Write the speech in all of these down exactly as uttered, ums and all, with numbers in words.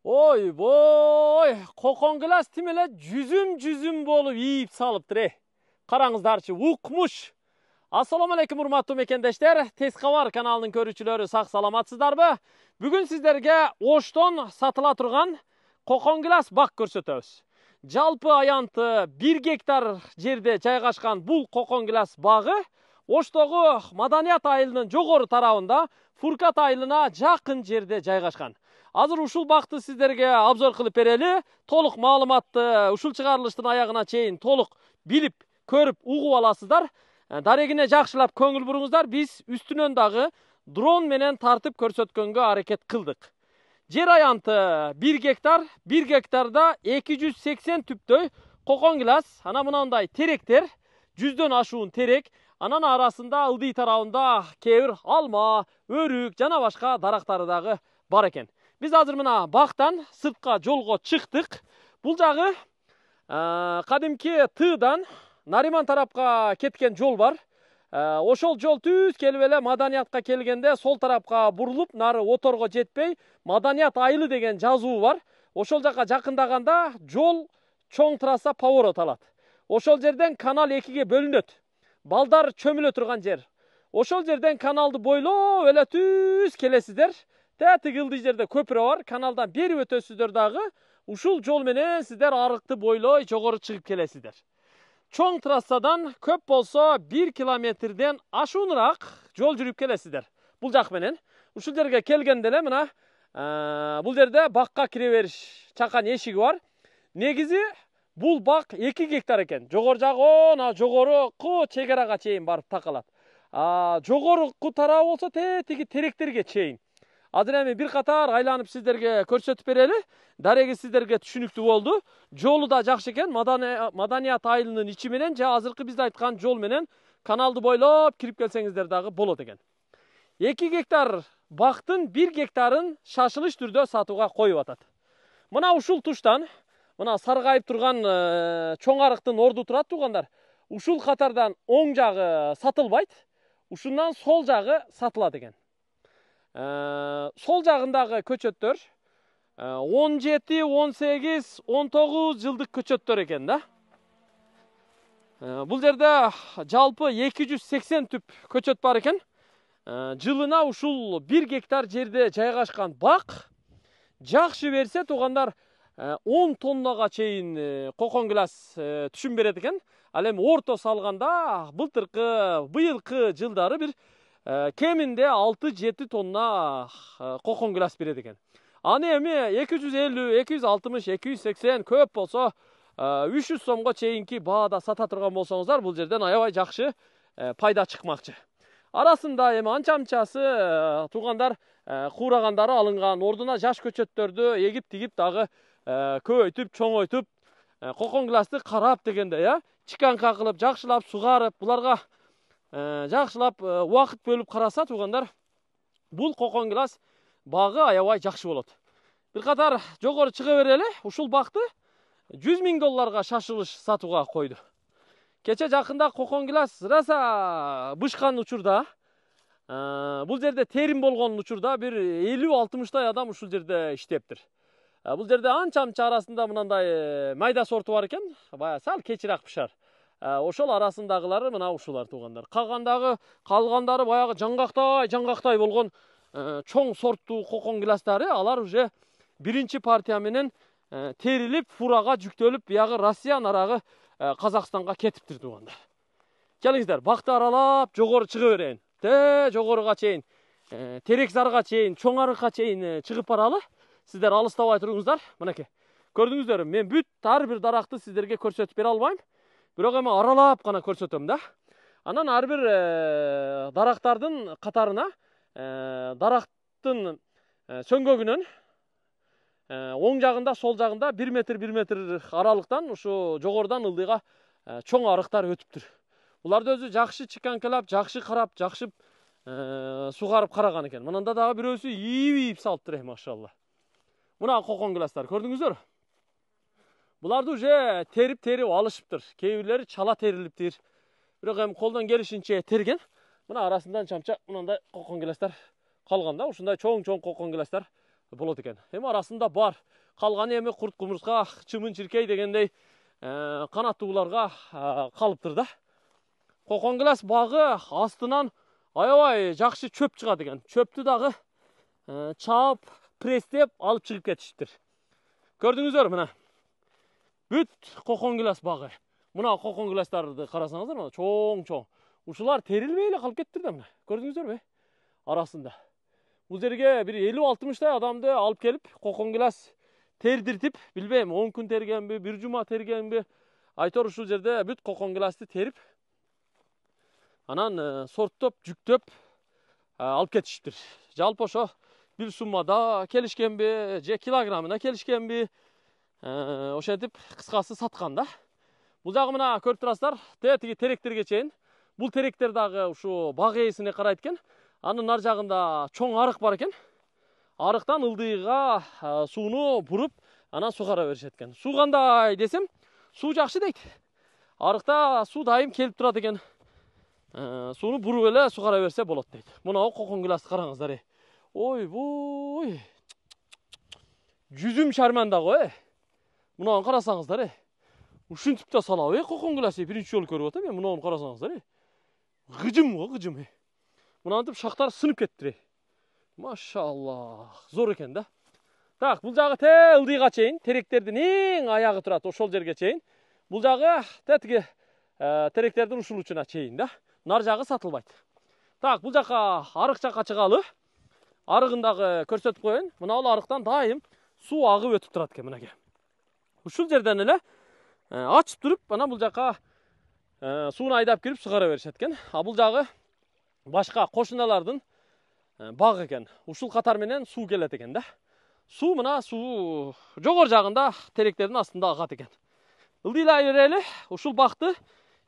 Ой бой, кокон гилас тим эле жүзүм жүзүм болуп ийип салыптыр э. Караңыздарчы, укмуш. Ассаламу алейкум урматтуу мекендештер. Тез кабар каналынын көрүүчүлөрү сак саламатсыздарбы? Бүгүн сиздерге Оштон сатыла турган кокон гилас бак көрсөтөбүз. Жалпы аянты бир гектар жерде жайгашкан бул кокон гилас багы Оштогу Маданият айылынын жогору тарабында Фуркат айылына жакын жерде жайгашкан. Азыр ушул бакты сиздерге обзор кылып берели. Толук маалыматты ушул чыгарылыштын аягына чейин толук билип, көрүп, угуп аласыздар. Дарегине жакшылап көңүл буруңуздар. Биз үстүнөн дагы дрон менен тартып көрсөткөнгө аракет кылдык. Жер аянты бир гектар, бир гектарда эки жүз сексен түптөй кокон гилас, ана мынандай теректер, жүздөн ашуун терек, анан арасында ылдый тарабында кээ бир алма, өрүк жана башка дарактары дагы бар экен. Биз азыр мына бактан сыртка жолго чыктык. Бул жагы кадимки Тыдан Нариман тарапка кеткен жол бар. Ошол жол түз келип эле Маданиятка келгенде сол тарапка бурулуп, нары оторго жетпей Маданият айылы деген жазуу бар. Ошол жака жакындаганда жол чоң трасса поворот алат. Ошол жерден канал экиге бөлүнөт. Балдар чөмүлө турган жер. Ошол жерден каналды бойлоп эле түз келесиздер. Тетиги ылдый жерде көпүрө бар. Каналдан бери өтөсүздөр дагы. Ушул жол менен сиздер арыкты бойлой жогору чыгып келесиздер. Чоң трассадан көп болсо бир километрден ашуунураак жол жүрүп келесиздер. Бул жак менен. Ушул жерге келгенде эле мына бул жерде бакка кире бериш чакан эшиги бар. Негизи бул бак эки гектар экен. Жогору жагы на жогорку чек арага чейин барып такалат. А жогорку тарабы болсо тетиги теректерге чейин. Азыр эми бир катар айланып сиздерге көрсөтүп берели. Дареги сиздерге түшүнүктүү болду. Жолу да жакшы экен. Маданият айылынын ичи менен же азыркы биз айткан жол менен каналды бойлоп кирип келсеңиздер дагы болот экен. эки гектар бактын бир гектарын шашылыш түрдө сатууга коюп атат. Мына ушул туштан, мына саргайып турган чоң арыктын орду турат туугандар. Ушул катардан оң жагы сатылбайт. Ушундан сол жагы сатылат экен. Сол жагындагы көчөттөр он жети, он сегиз, он тогуз жылдык көчөттөр экен да. Бул жерде жалпы эки жүз сексен түп көчөт бар экен. Жылына ушул бир гектар жерде жайгашкан бак жакшы берсе туугандар он тоннага чейин кокон гилас түшүм берет экен. Ал эми орто салганда былтыркы, быйылкы жылдары бир кеминде алты жети тонна кокон гилас берет экен. Аны эми эки жүз элүү, эки жүз алтымыш, эки жүз сексен, көп болсо үч жүз сомго чейинки баада сата турган болсоңуздар, бул жерден аябай жакшы пайда чыкмакчы. Арасында эми анча-мынчасы туугандар куурагандары алынган, ордуна жаш көчөттөрдү эгип тигип дагы көбөйтүп, чоңойтуп, кокон гиласты карап дегенде, я, чиканка кылып, жакшылап сугарып, буларга жакшылап убакыт бөлүп караса туугандар, бул кокон гилас багы аябай жакшы болот. Бир катар жогору чыга берели. Ушул бакты жүз миң долларга шашылыш сатууга койду. Кече жакында кокон гилас раса бышкан учурда, бул жерде терим болгон учурда бир элүү алтымыштай адам ушул жерде иштептир. Бул жерде анча-мынча арасында мынандай майда сорту бар экен, бая сал кечирээк пышар. Ошол арасындагылары мына ушулар туугандар. Калгандагы калгандары баягы жаңгактай, жаңгактай болгон чоң сорттуу кокон гиластары, алар уже биринчи партия менен терилип, фурага жүктөлүп, биягы Россия нарагы Казакстанга кетиптир туугандар. Келиңиздер, бакты аралап, жогору чыга берейин. Те жогоруга чейин, терек зарга чейин, чоң арыкка чейин чыгып баралы. Сиздер алыстабай туруңуздар. Мынакей. Көрдүңүздөр, мен бүт ар бир даракты сиздерге көрсөтүп бере албайм. Бирок эми аралап гана көрсөтөм да. Анан ар бир дарактардын катарына дарактын сөңгөгүнөн оң жагында, сол жагында бир метр бир метр аралыктан ушу жогорудан ылдыйга чоң арыктар өтүптүр. Буларды өзү жакшы чиканкалап, жакшы карап, жакшы сугарып караган экен. Мынанда дагы бирөөсү ийип-ийип салыптыр, машалла. Мына кокон гиластар, көрдүңүздөр? Буларды уже терип-терип алышыптыр. Кээ бирлери чала терилиптир. Бирок эми колдон келишинче терген. Мына арасындан чамча мындай кокон гиластар калганда, ушундай чоң-чоң кокон гиластар болот экен. Эми арасында бар. Калган эми курт кумурска, чымын чиркей дегендей канаттууларга калыптыр да. Коконгилас багы астынан аябай жакшы чөп чыгат экен. Чөптү дагы чаап, престеп алып чыгып кетиштир. Көрдүңүздөр мына. Бүт коконгилас багы. Мына коконгиластарды карасаңыздар, мына чоң-чоң. Ушулар терилбей эле калып кеттир да мына. Көрдүңүздөрбү? Арасында. Бул жерге бир элүү алтымыштай адамды алып келип, коконгилас тердиртип, билбейм, он күн тергенби, бир жума тергенби, айтор ушул жерде бүт коконгиласты терип, анан сорттоп, жүктөп алып кетиштир. Жалпы ошо бир суммада келишкенби, же килограммына келишкенби, ошентип кыскасы саткан да. Бул жагы мына көрүп турасыздар, тетиги теректерге чейин. Бул теректер дагы ушу баг ээсине карайт экен. Анын нар жагында чоң арык бар экен. Арыктан ылдыйга сууну буруп, анан сугара беришет экен. Суу кандай десем, суу жакшы дейт. Арыкта суу дайым келип турат экен. Сууну буруп эле сугара берсе болот дейт. Мына коконгиласты караңыздар. Ой-бой. Жүзүм шарманда го, э. Мунаны карасаңыздар, э. Ушинтип да салабы, э, коконгиласты биринчи жолу көрүп атам, э. Мунаны карасаңыздар, э. Гыжым го, гыжым, э. Мынантип шактар сынып кеттир. Машаллах, зор экен да. Так, бул жагы те ылдыйга чейин, теректердин эң аягы турат, ошол жерге чейин. Бул жагы тетиги теректердин ушул учуна чейин да. Нар жагы сатылбайт. Так, бул жака арык жака чыгалы. Арыгын дагы көрсөтүп коеюн. Мына бул арыктан дайым суу агып өтүп турат экен мынакей. Ушул жерден эле ачып туруп, анан бул жака сууну айдап кирип сугара беришет экен. А бул жагы башка кошуналардын баг экен. Ушул катар менен суу келет экен да. Суу мына суу жогор жагында теректердин астында агат экен. Ылдыйлай берели, ушул бакты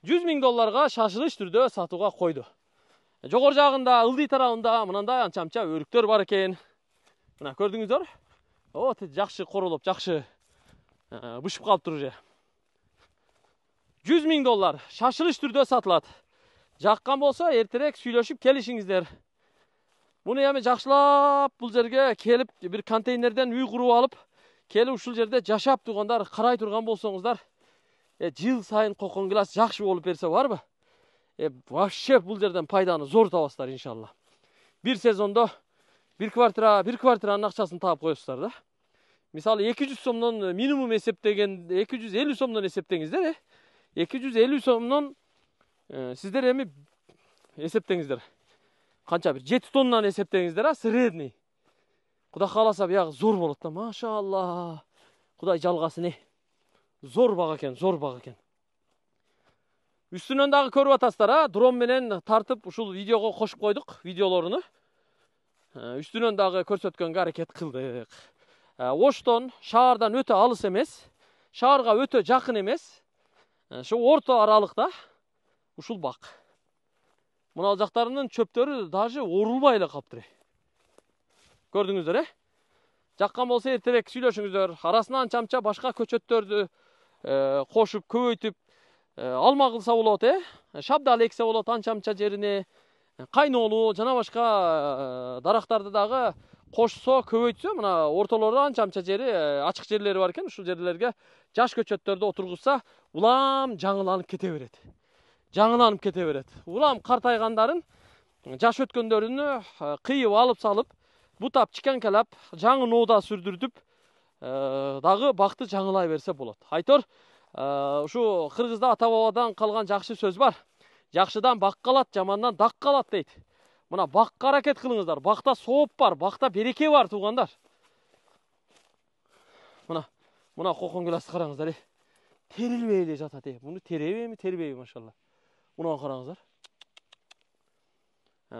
жүз миң долларга шашылыш түрдө сатууга койду. Жогор жагында ылдый тарабында мынандай анча-мынча өрүктөр бар экен. Мына көрдүңүздөр? О, жакшы королоп, жакшы бышып калыптыр уже. жүз миң доллар шашылыш түрдө сатылат. Жаккан болсо эртерээк сүйлөшүп келишиңиздер. Муну эми жакшылап бул жерге келип бир контейнерден үй куруп алып, келип ушул жерде жашап тургандар, карай турган болсоңуздар, жыл сайын коконгилас жакшы болуп берсе барбы? Э, вообще бул жерден пайданы зор табасыздар иншалла. Бир сезондо бир квартира, бир квартиранын акчасын таап коесуздар да. Мисалы эки жүз сомдон минимум эсептеген, эки жүз элүү сомдон эсептеңиздер, э. эки жүз элүү сомдон сиздер эми эсептеңиздер. Канча бир жети тоннаны эсептеңиздер, а средний. Кудай кааласа биягы зор болот да, машалла. Кудай жалгасын, э. Зор баг экен, зор баг экен. Үстүнөн дагы көрүп атасыздар, а? Дрон менен тартып ушул видеого кошуп койдук, видеолоруну. Үстүнөн дагы көрсөткөнгө аракет кылдык. Оштон, шаардан өтө алыс эмес, шаарга өтө жакын эмес. Ошо орто аралыкта ушул бак. Мына жактарынын чөптөрү даже орулбай эле калыптыр. Көрдүңүздөр, э? Жаккан болсо эртерээк сүйлөшүңүздөр. Арасынан анча-мынча башка көчөттөрдү кошуп, көбөйтүп алма кылса болот, э? Шабдал эксе болот анча-мынча жерине. Кайнолуу жана башка дарактарды дагы кошсо, көбөйтсө, мына ортолору анча-мынча жери ачык жерлери бар экен. Ушул жерлерге жаш көчөттөрдү отургузса, улам жаңыланып кете берет. Жаңыланып кете берет. Улам картайгандарын, жаш өткөндөрүнү кыйып алып салып, бутап, чикенкелеп, жаңы ноода сүрдүртүп, дагы бакты жаңылай берсе болот. Айтор, ушу кыргызда ата бабадан калган жакшы сөз бар. Жакшыдан бак калат, жамандан дак калат дейт. Мына бакка аракет кылыңыздар. Бакта сооп бар, бакта береке бар туугандар. Мына, мына коконгиласты караңыздар, э. Терилбей эле жатат, э. Муну теребейби, тербейби, машалла. Муну караңыздар.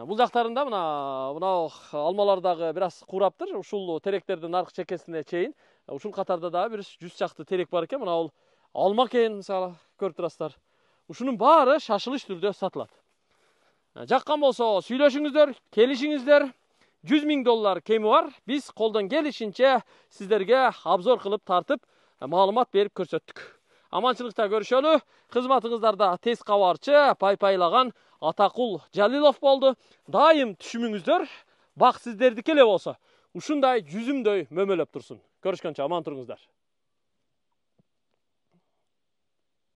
Бул жактарында мына мына алмалар дагы бир аз кураптыр. Ушул теректердин аркы чекесине чейин, ушул катарда дагы бир жүз чакты терек бар экен. Мына бул алма экен, мисалы, көрүп турасыздар. Ушунун баары шашылыш түрдө сатылат. Жаккан болсо сүйлөшүңүздөр, келишиңиздер. жүз миң доллар кеми бар. Биз колдон келишинче сиздерге обзор кылып тартып, маалымат берип көрсөттүк. Аманчылыкта көрүшөлү. Кызматыңыздарда тез кабарчы, пай-пайлаган Атакул Жалилов болду. Дайым түшүмүңүздөр бак сиздердики эле болсо. ушундай жүзүмдөй мөмөлөп турсун. Көрүшкөнчө аман туруңуздар.